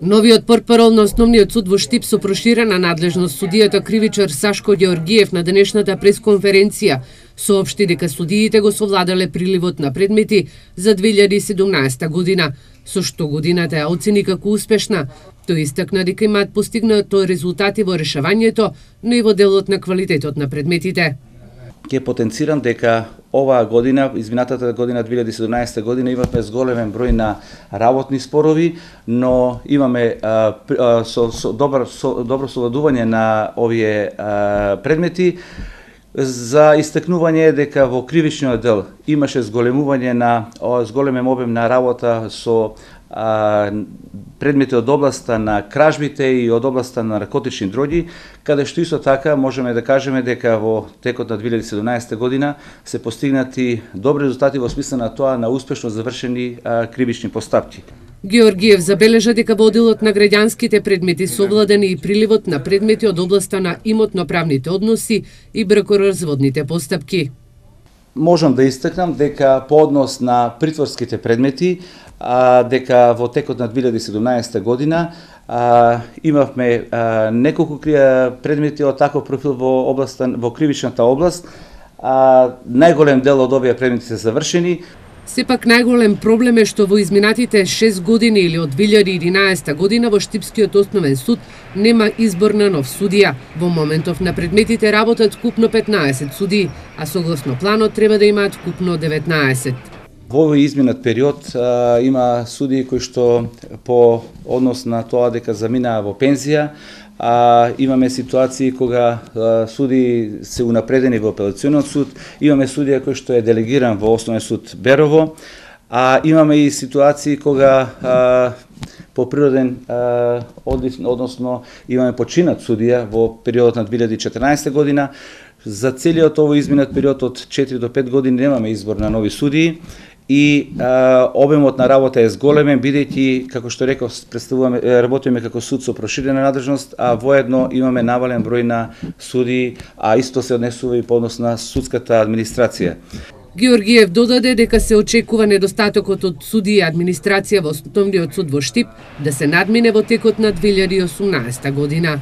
Новиот портпарол на Основниот суд во Штип со проширена надлежност судијата кривичар Сашко Ѓеоргиев на денешната пресконференција соопшти дека судиите го совладале приливот на предмети за 2017 година, со што годината ја оцени како успешна. Тој истакна дека имаат постигнато резултати во решавањето, но и во делот на квалитетот на предметите. Ќе потенцирам дека оваа година, изминатата година 2017 година имавме зголемен број на работни спорови, но имаме добро совладување на овие предмети. За истакнување е дека во кривичниот дел имаше зголемен обем на работа со предмети од областа на кражбите и од областа на наркотични дроги, каде што исто така можеме да кажеме дека во текот на 2017 година се постигнати добри резултати во смисла на тоа на успешно завршени кривични постапки. Ѓеоргиев забележа дека во делот на граѓанските предмети совладени и приливот на предмети од областа на имотно-правните односи и бракоразводните постапки. Можам да истакнам дека по однос на притворските предмети, дека во текот на 2017 година имавме неколку предмети од таков профил во кривичната област. Најголем дел од овие предмети се завршени. Сепак најголем проблем е што во изминатите 6 години или од 2011 година во Штипскиот основен суд нема избор на нов судија. Во моментов на предметите работат купно 15 судии, а согласно планот треба да имаат купно 19. Во овој изминат период има судии кои што по однос на тоа дека заминаа во пензија, имаме ситуации кога судии се унапредени во апелациониот суд, имаме судија кој што е делегиран во Основен суд Берово, имаме и ситуации кога по природен односно имаме починат судија во периодот на 2014 година. За целиот овој изминат период од 4 до 5 години немаме избор на нови судии и обемот на работа е зголемен, бидејќи, како што реков, работиме како суд со проширена надлежност, а воедно имаме навален број на судии, а исто се однесува и по однос на судската администрација. Ѓеоргиев додаде дека се очекува недостатокот од судии и администрација во Основниот суд во Штип да се надмине во текот на 2018 година.